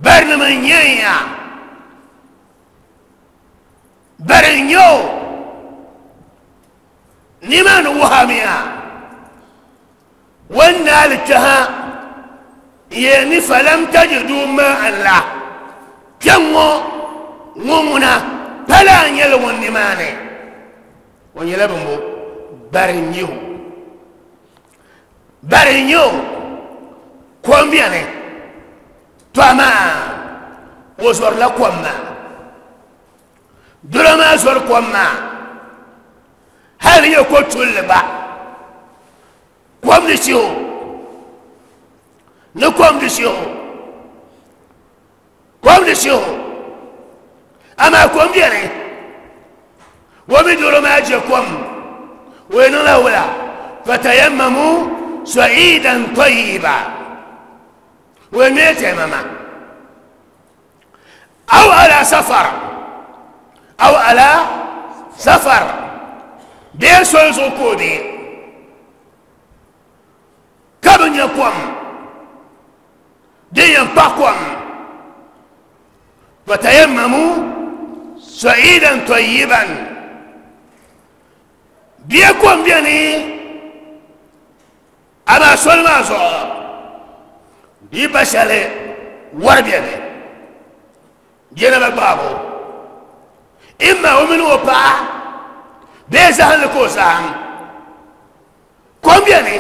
barinima n-nyɛ ya, bari n-nyɛ o, nimaani wuhamiya o ni naali kpɛha n-yɛli ni falam tajidu ma'an la, kpɛŋŋo ŋɔ ŋuna pala n-nyɛli ŋun nimaani, o nyɛla bimbo, bari n-nyɛ o, bari n-nyɛ o, kom beni, to amaa o zɔrila kom maa. Doro maa zɔri kom maa hali di nyɛ ko tulli gba kom di chihi o ni kom di chihi o kom di chihi o amaa kom biɛni o mi doro maa je kom o yi niŋla wula fatayammamu sa'idan tayyiba o yi ŋmɛ taimama aw ala safar aw ala safar bee soli zuɣu ka o be ka bi nya kom din yɛn kpahi kom fatayammamu sa'idan tayyiban bee kom beni Amaa soli maa zuɣu di yi pa shɛli wari beni bɛ na ba gbaabu imma o mini o paɣa bee zahinli ka o zahim kom beni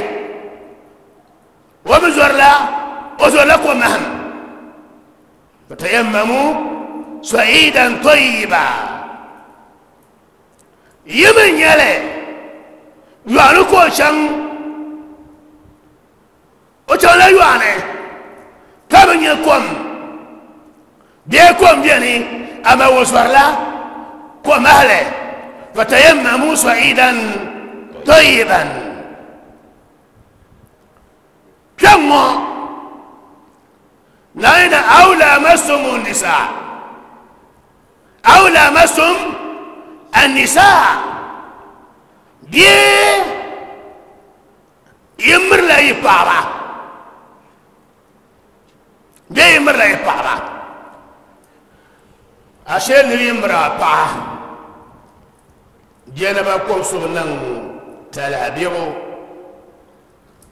o mi zɔrila o zɔrila ko mahim fatayammamu sa'idan tayyiba Yi mi nyɛli yɔɣuni ka o chaŋ, o chaŋla yɔɣuni ka bi nya kom bee kom beni amaa o zɔrila komahili fatayammamu sa'idan tayyiban. Kpɛŋŋɔ Naayinɛ aw lamastumu nisaa aw lamastum annisaa bee yi mirila yi paɣaba bee yi mirila yi paɣaba ashe niri yi miri a paɣa jɛnaba kɔbisigu niŋ talahi biɛbu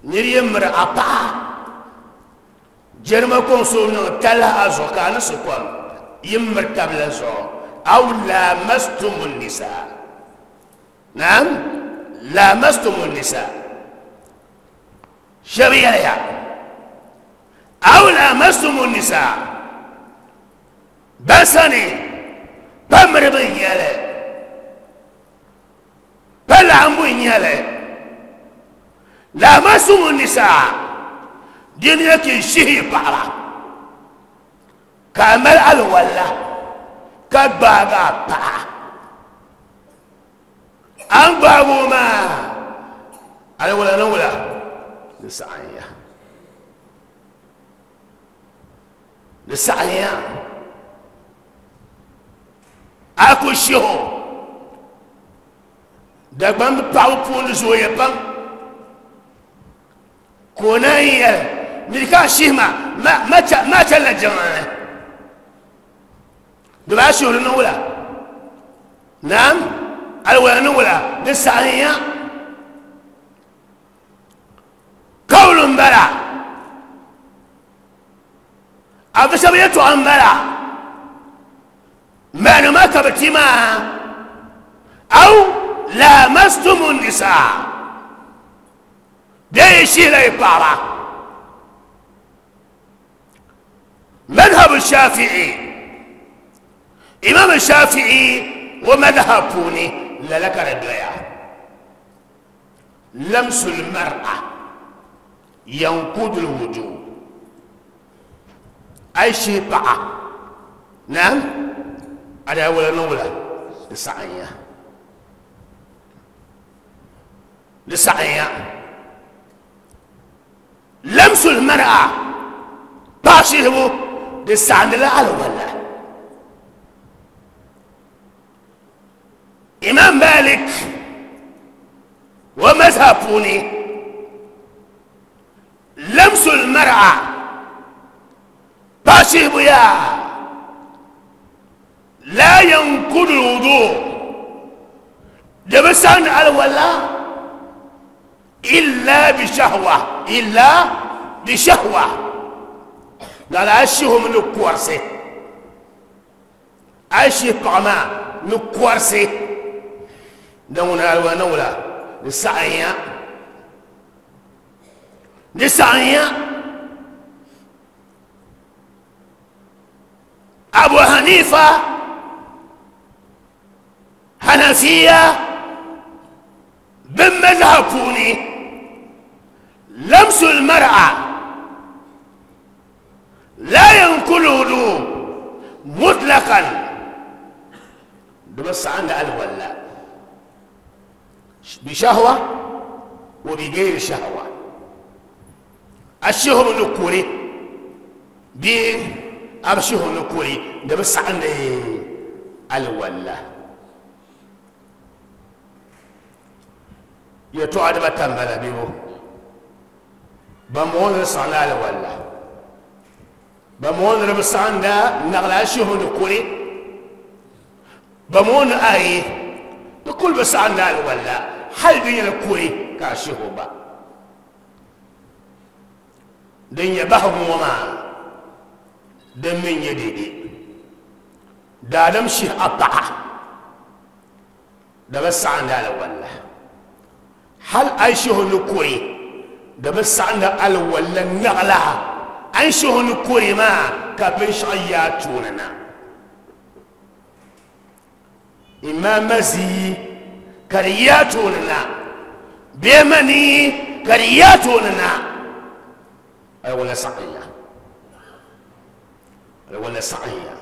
Nir yi miri a paɣa, jɛrima kɔŋ so niŋ talahi a zuɣu ka a ni su kom yi miri tabili zuɣu. Aw lamastumu nisaa. Naam, lamastumu nisaa. Shɛba yɛliya, aw lamastumu nisaa. Ban sani pa miribu n-nyɛ li. Pa laɣimbu n-nyɛ li. Laamasumu nisaa di ni yɛ ka yi shihi yi paɣaba ka a mali alwala ka gbaagi a paɣa a ni gbaagi o maa alwala ni wula di saɣimya di saɣimya a ku shihi o Dagbamb paɣaba puuni zooya pam ka o naan yɛli ni ka a shihi ma ma chanila jiŋli ni di baa shihiri ni wula naam aliwala ni wula di saɣinya kawulu n bala a bi shɛba yɛtɔɣa n bala Mani ma ka bi ti maa aw lamastumu nisaa Bee yi shihila yi paɣaba. Madhhabu Shafi'i, Imam Shafi'i o madhhab puuni lala ka di doya. Lamsul mar'a yankudul wudu. A yi shihi paɣa, naam, a daa wala niŋ wula di saɣinya. Di saɣinya. Lamsul mar'a, paɣa shihibu, di saɣindila alwala. Imam Malik o mazhab puuni lamsul mar'a, paɣa shihibu yaa la yankudu wudu, di bi saɣindi alwala illa bi shahwa, illa bi shahwa, lala a shihimi ni kɔrisi, a yi shihi paɣa maa ni kɔrisi, din ŋuni alwala ni wula di saɣinya, di saɣinya. Abu Hanifa, Hanafiya bin mazhab puuni lamsul mar'a la yankulu wudu mutlaqan, di bi saɣindi alwala bi shahwa wa bi gayri shahwa, a shihimi ni kuri bee a bi shihimi ni kuri, di bi saɣindi alwala. Yɛltɔɣa dibata m-bala bee o? Ban bɔŋɔ ni di saɣindi alwala, ban bɔŋɔ ni di bi saɣinda naɣila a shihimi ni kuri, ban bɔŋɔ ni ayi di kuli bi saɣinda alwala hali di nyɛla kuri ka a shihi o gba. Din nyɛ bahigu ŋɔ maa, din mi nyɛ dede, daadam shihi a paɣa di bi saɣindi alwala, hal a yi shihi o ni kuri di bi saɣindi alwala naɣila a ni shihi o ni kuri maa ka binshɛɣu yi a tooni na. Imma mazi ka di yi a tooni na, bee mani ka di yi a tooni na, alwala saɣinya, alwala saɣinya,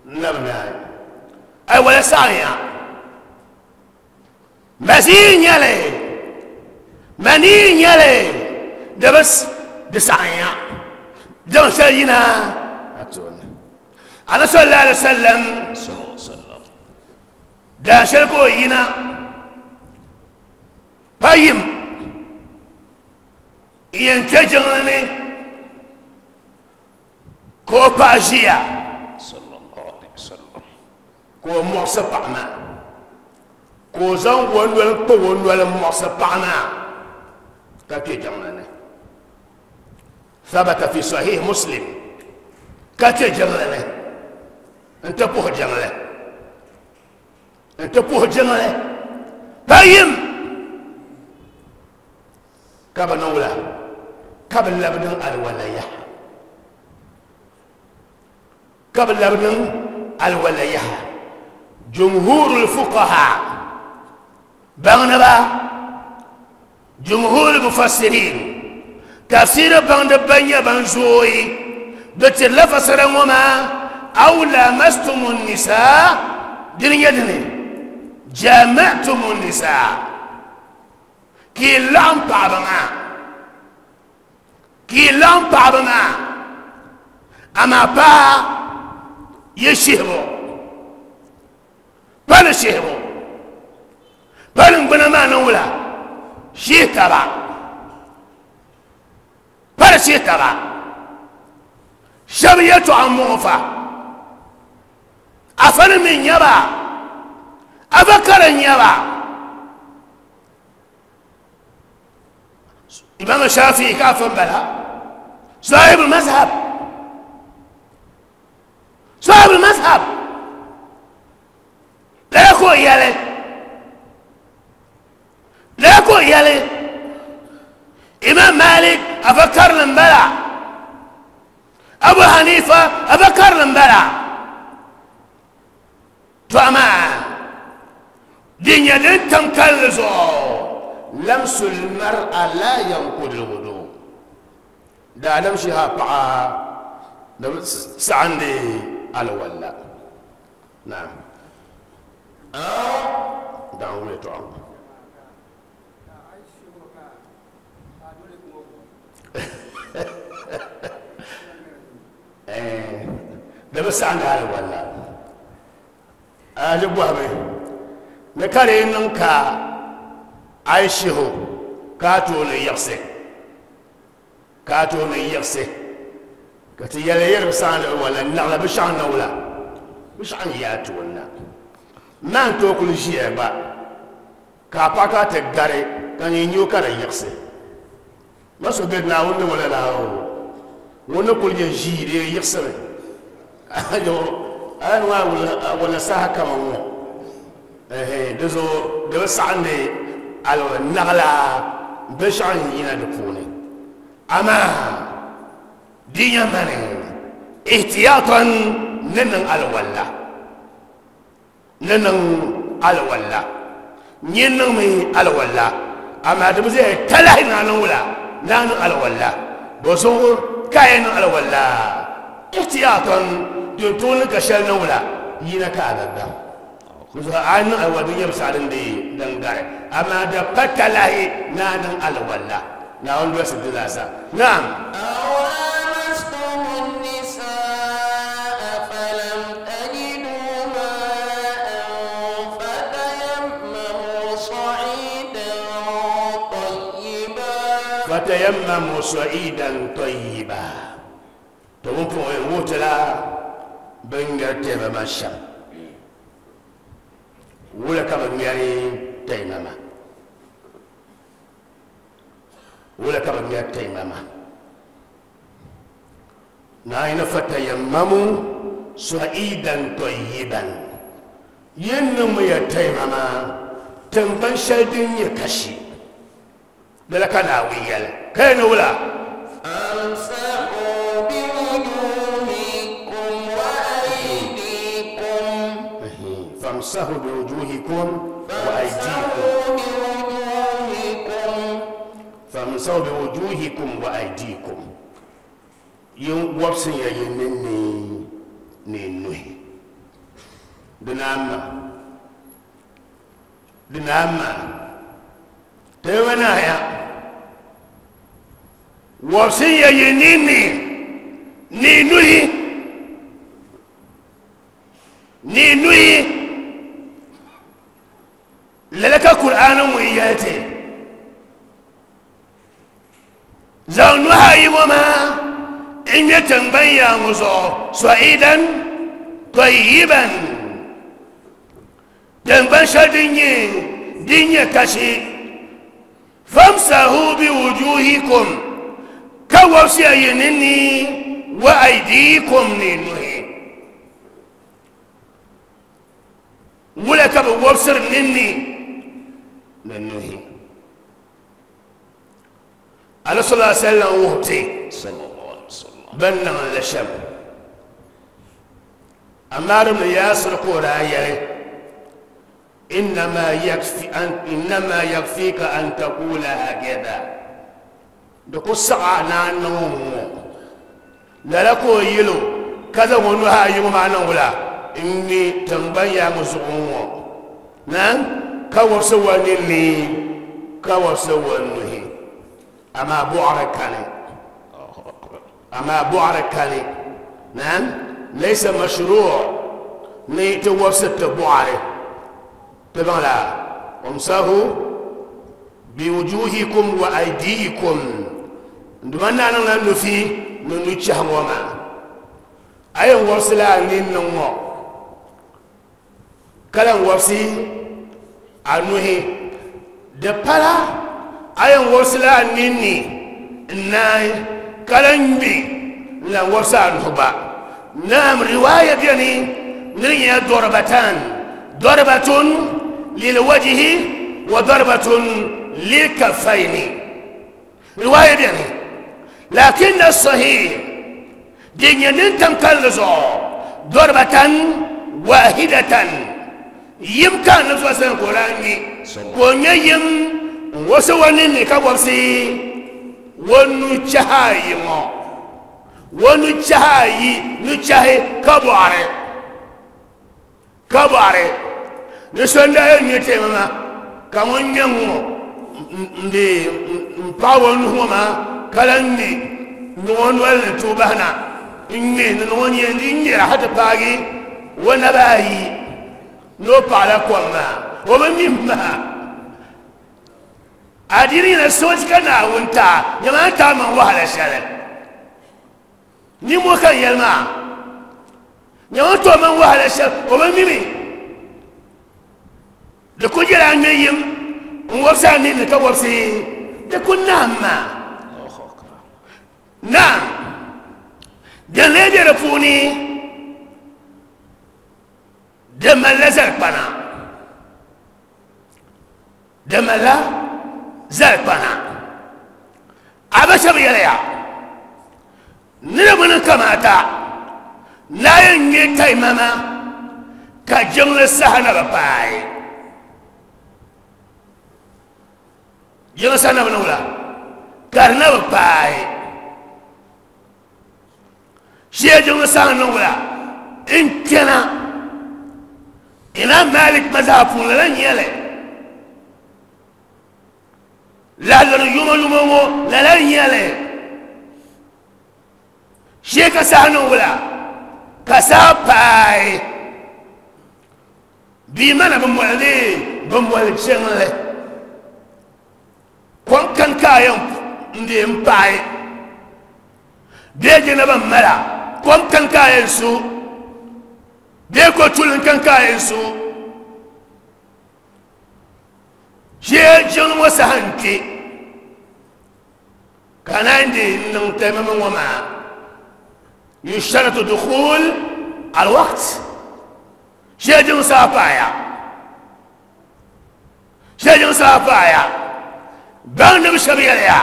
n labi naai, alwala saɣinya. Mazi n-nyɛli, mani n-nyɛli, di bi di saɣinya daŋ shɛli yina a tooni. Anabi sallallahu alaihi wasallam daa shɛli ka o yina pa yim n-yɛn kpe jiŋli ni ka o paɣa ʒiya ka o muɣisi paɣa maa, ka o zaŋ o noli kpa o noli m-muɣisi paɣa maa ka kpe jiŋli ni. Thabata fi sahih Muslim, ka kpe jiŋli ni n-ti puhi jiŋli, n-ti puhi jiŋli pa yim ka bi niŋ wula ka bi labi niŋ alwala yaha. Ka bɛ labi niŋ alwala yaha. Jumhurul fuqaha baŋdiba, jumhurul mufassirin tafsiri baŋdib ban nyɛ ban zooi, bɛ tirila fasara ŋɔ maa aw lamastumu nisaa, dini nyɛ dini jama'tumu nisaa, ka yi laɣim paɣaba maa. Ka yi laɣim paɣaba maa, amaa pa yi shihibu, pa ni shihibu, pa niŋgbuna maa ni wula shihi taba, pa di shihi taba. Shɛba yɛltɔɣa m-bɔŋɔ fa, afa ni mi n-nyɛ ba, afa kara n-nyɛ ba. Imam Shafi'i ka afa bala, sahibul mazhab, sahibul mazhab lala ka o yɛli, lala ka o yɛli. Imam Malik afa karili m-bala. Abu Hanifa afa karili m-bala. To amaa di nyɛ din tam kalinli zuɣu, lamsul mar'a la yanqudul wudu. Daadam shiha paɣa di bi saɣindi alwala. Naam. Daŋ ŋun yɛtɔɣa ŋɔ. Di bi saɣindi alwala. A di bɔhimi ni ka di yi niŋ ka a yi shihi o ka a tooni yiɣisi, ka a tooni yiɣisi ka ti yɛli yi di bi saɣindi alwala naɣila binshɛɣu n-niŋ wula, binshɛɣu n-yi a tooni na. Maan tooi kuli ʒiya gba ka a paɣa ka a ti gari ka nyin nya o ka di yiɣisi. Ma so be Naawuni ni ŋɔ lala o ŋun ni kuli nyɛ ʒii di yiɣisimi. Ayo, a ni ŋɔ a wala saha kama ŋɔ. Ɛhɛ, di zuɣu di bi saɣindi alɔri naɣila binshɛɣu n-yina di puuni. Amaa di nya mani ihtiyatan ni niŋ alwala. Ni niŋ alwala. Nyin niŋmi alwala, amaa di bi zaya talahi ni a niŋ wula? Ni a niŋ alwala. Bɔzuɣu ka a yɛn niŋ alwala? Ihtiyatan, din tooi niŋ ka shɛli niŋ wula? Yina ka a bi baŋ. Bɔzuɣu a yi niŋ alwala di nyɛ binshaɣu din deei din gari, amaa di pa talahi ni a niŋ alwala. Naawuni dolisi di zaa sa. Naam. Aw lamastumu nisaa falam tajidu maa'an fatayammamu sa'iidan tayyiba. Fatayammamu sa'iidan tayyiba. To pumpɔŋɔ yɛn wuhi ti la bɛ ni ŋmɛri taimama shɛm. Wula ka bɛ ŋmɛri taimama? Wula ka bɛ ŋmɛri taimama? Naayini fatayammamu sa'iidan tayyiban. Yin niŋmiya taimama tiŋgbani shɛli din nyɛ kashi. Lala ka Naawuni yɛli. Ka yɛli ni wula? Famsahu biwujuhikum wa aydikum. Famsahu biwujuhikum wa aydikum. Famsahu biwujuhikum wa aydikum. Yin wɔbisinya yi ninni ni nuhi. Di naan niŋ. Di naan maa. Teemi naaya. Wɔbisinya yi ninni ni nuhi. Ni nuhi. Lala ka Kur'aani ŋun yɛli ti, Zaŋ nuhi ayi ŋɔ maa n-ŋmɛ tiŋgbani yaa ŋɔ zuɣu, sa'iidan tayyiban, tiŋgbani shɛli din nyɛ din nyɛ kasi, famsahu biwujuhikum, ka wɔbisiya yi ninni, wa aydiikum, ni nuhi. Wula ka bɛ wɔbisiri ninni ni nuhi? Anabi sallallahu alaihi wasallam wuhi ti bɛn niŋ li shɛm. Ammar ibn Yasir ka o daa yɛli, Innama yakfi an innama yakfika an taqula hakadha. Di ku saɣi a ni a niŋ ŋ-ŋɔ. Lala ka o yɛl o, ka zaŋ o nuhi ayi ŋɔ maa niŋ wula? N-ŋme tiŋgbani yaa ŋɔ zuɣu ŋ-ŋɔ. Naam, ka wɔbisi wa ninni, ka wɔbisi wa nuhi. Amaa buɣiri kani. Amaa buɣiri kani. Naam, laysa mashru' ni ti wɔbisi ti buɣiri. Ti baŋla, Wamsahu biwujuhikum wa aydiikum, n Duuma naa niŋla nufi ni nuchɛhi ŋɔ maa. A yɛn wɔbisila a ninni ŋɔ, ka lan wɔbisi a nuhi. Di pala a yɛn wɔbisila a ninni n-naai, ka lan ŋme n-lan wɔbisi a nuhi gba. Naam, riwaaya beni ni di nyɛla dɔribatan, dɔribatun lilwajihi wa dɔribatun lilkaffaini. Riwaaya beni, lakinna sahih din nyɛ din tam kalinli zuɣu dɔrbatan wahidatan yim ka Annabi sallallahu alaihi wasallam ka o daa ŋme ka o ŋme yim n-wobisi o ninni ka wobisi o nuchɛhi ayi ŋɔ o nuchɛhi ayi nuchɛhi ka bɔɣiri Ka bɔhiri ni so n-daa yɛn ŋme taimama ka ŋun ŋme ŋ-ŋɔ n-dee m-paɣi o nuhi ŋɔ maa ka lan ŋme n-niŋ o noli ni tuui bahi na n-ŋme ni niŋ o nyee n-di ŋmɛra hal ti paagi o naba ayi ni o paɣila kom maa o bi mi m-maha. Adiini nyɛla soochi ka Naawuni ti a, nyama a ni ti a maŋ wahala shɛli. Nimmoo ka n yɛli maa nyɛ ŋun tooi mani wahala shɛli o bi mimi di ku nyɛla a ŋmɛ yim n wobisi a ninni ka wobisi di ku naam maa naam din lee bɛ di puuni di malila zalikpana Di malila zalikpana. A ba shɛba yɛliya, Ni di bi niŋ kamaata ni a yɛn ŋme taimama ka jiŋli saha na bi paai. Jiŋli saha na bi niŋ wula? Ka di na bi paai. Shee jiŋli saha niŋ wula? N kpɛna Imam Malik mazhab puuni lala n-nyɛ li. Laɣiri yuma yuma ŋɔ lala n-nyɛ li. Shee ka saha niŋ wula? Ka saha paai. Bia mana bi moli ni bi moli jiŋli. Kom kani ka a yɛn n-deei m-paai bee jina ban mala kom kani ka a yɛn su bee ko tuli n-kani ka a yɛn su ʒee jiŋli ŋɔ saha n-kpe ka naan deei n-niŋ taimama ŋɔ maa yushtaratu dukhul alwaqt ʒee jiŋ saha paaya. Shɛli saha paaya, baŋdiba shɛba yɛliya,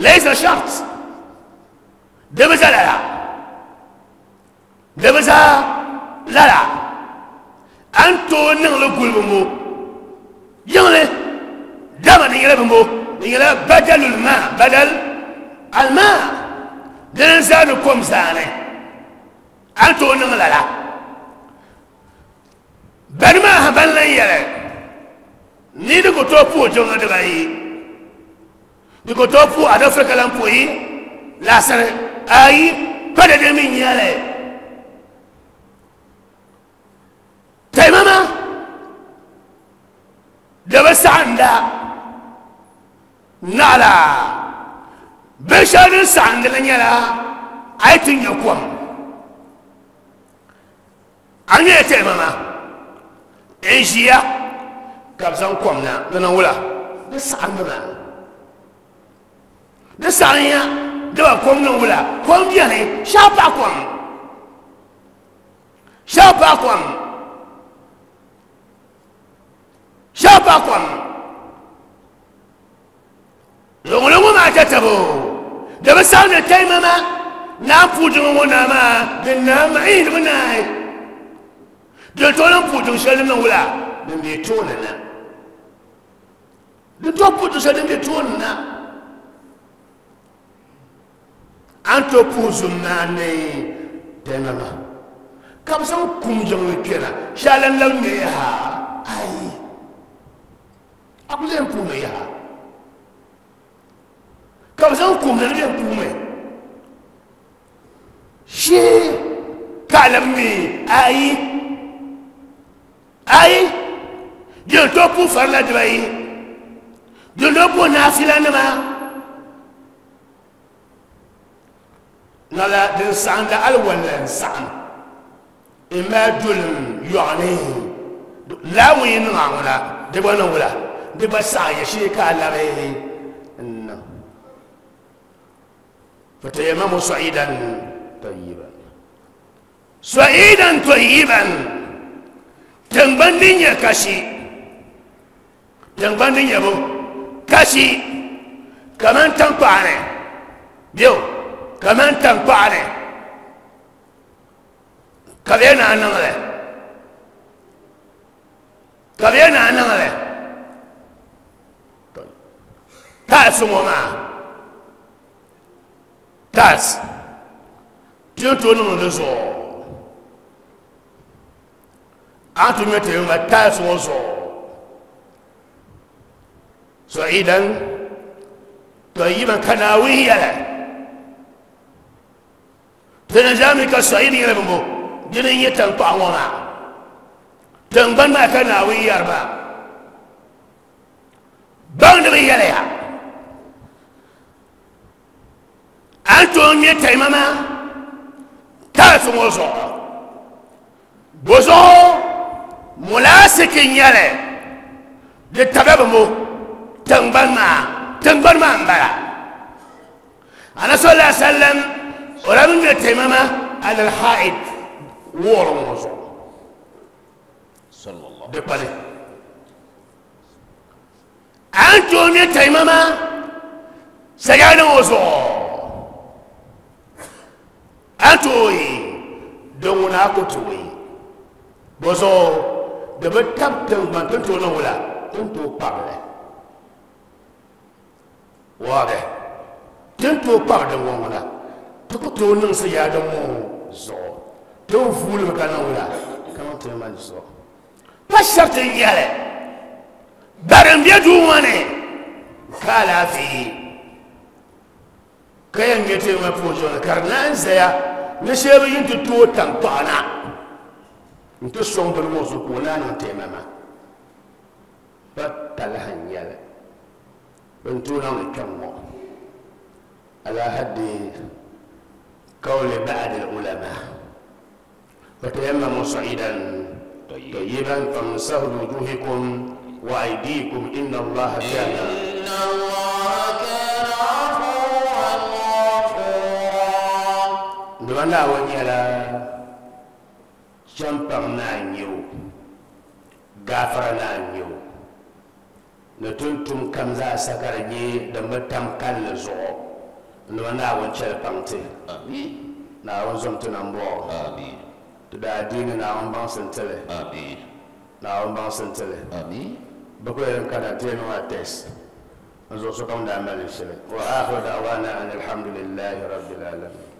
Laysa shart, di bi za lala, di bi za lala, a ni tooi niŋ li guli bimbo yiŋli, dama di nyɛla bimbo, di nyɛla badalul ma, badal al ma, dini n-zaani kom zaani, a ni tooi niŋ lala. Bani maa ha ban lan yɛli ni di ku tooi puhi jiŋli dibayi, di ku tooi puhi adafiri ka lan puhi laasiri ayi pa dede mi nyɛli taimama di bi saɣinda naɣila binshɛli din saɣindi li nyɛla a yi ti nya kom. A nyɛla taimama n-ʒiya ka bɛ zaŋ kom na di niŋ wula? Di saɣimmi maa. Di saɣimya dama kom niŋ wula? Kom beni, shɛba paɣi kom. Shɛba paɣi kom. Shɛba paɣi kom. Luɣuli ŋɔ maa tatabo di bi saɣim ni taimama naan puhi jiŋli ŋɔ naa maa din naa maa di bi naai din tooi lan puhi jiŋ shɛli din niŋ wula din be tooni na din tooi puhi jiŋ shɛli din be tooni na a ni tooi puhi zum maa ni taimama ka bi zaŋ kum jiŋli kpɛna shɛli lan labi ŋme yaha ayi A ku lee puhimi yaha, ka bɛ zaŋ kum na ni bɛ puhimi shee ka a labi ŋme ayi ayi din tooi puhi farila dibayi din tooi puhi naafilanima Lala din saɣinda alwalla n-saɣim m-mali dolim yɔɣu ni lala ŋun yi niŋ a ŋuna di gba niŋ wula di gba saɣinya shee ka a labi n-niŋ fatayamamu sa'idan tayyiban sa'idan tayyiban tiŋgbani din nyɛ kashi tiŋgbani din nyɛ bu kashi. Kaman tankpaɣu ni bɛ kaman tankpaɣu ni ka bɛ naa niŋli ka bɛ naa niŋli taasi ŋɔ maa taasi ti ni tooi niŋdi di zuɣu a ni ti ŋmɛ teema taasi ŋɔ zuɣu sa'idan tayyiban ka Naawuni yɛli ti ni zaa mi ka sa'id nyɛla bimbo dini n-nyɛ taŋkpaɣu ŋɔ maa tiŋgbani maa ka Naawuni yɛri maa baŋdiba yɛliya a ni tooi ŋmɛ taimama taasi ŋɔ zuɣu bozuɣu mulaasiki n-nyɛli di tabila bimbo tiŋgbani maa tiŋgbani maa n-bala ana sallallahu alaihi wasallam o daa bi ŋmɛ taimama alal haid wɔɔri ŋɔ zuɣu di kpani a ni tooi ŋmɛ taimama sajada ŋɔ zuɣu a ni tooi din ŋuna a ku tooi bozuɣu di bi tabi tiŋgbani ti ni tooi niŋ wula ti ni tooi kpabili waadih ti ni tooi kpabi din ŋɔ ŋuna ti ku tooi niŋ sajada ŋɔ zuɣu ti ni vuulimi ka niŋ wula ka niŋ taimama zuɣu pa shariti n-nyɛli bari n-be duu ŋɔ ni ka alaafee ka yɛn ŋmɛ teeku maa puuni zuɣu ni ka di naan zaya ni shee bi yi ti tooi taŋkpaɣu na n-ti sɔŋ bini ŋɔ zuɣu ka o naan niŋ taimama pa talahi n-nyɛli bɛ ni tooi niŋdi kpɛŋ ŋɔ ala haddi qawli ba'di al-ulama fatayammamu sa'idan tayyiban famsahu biwujuhikum wa aydikum inna allaha kana إن الله كان عفوا غفورا Dama Naawuni nyɛla chɛmpaŋ naa n-nyɛ o, gaafara naa n-nyɛ o, ni ti ni tum kam zaa sa ka di nyɛ din bi tam kalinli zuɣu. Dama Naawuni chɛli paŋ ti. Naawuni zom ti nambɔɣu. Ti daadiini Naawuni baŋsi n-ti li. Naawuni baŋsi n-ti li. Bɛ kuli yɛn kana ti yɛn niŋ a test n zuɣu sokam daa mali shili. Wa akhiru da'wana anil hamdulillahi rabbil alamin.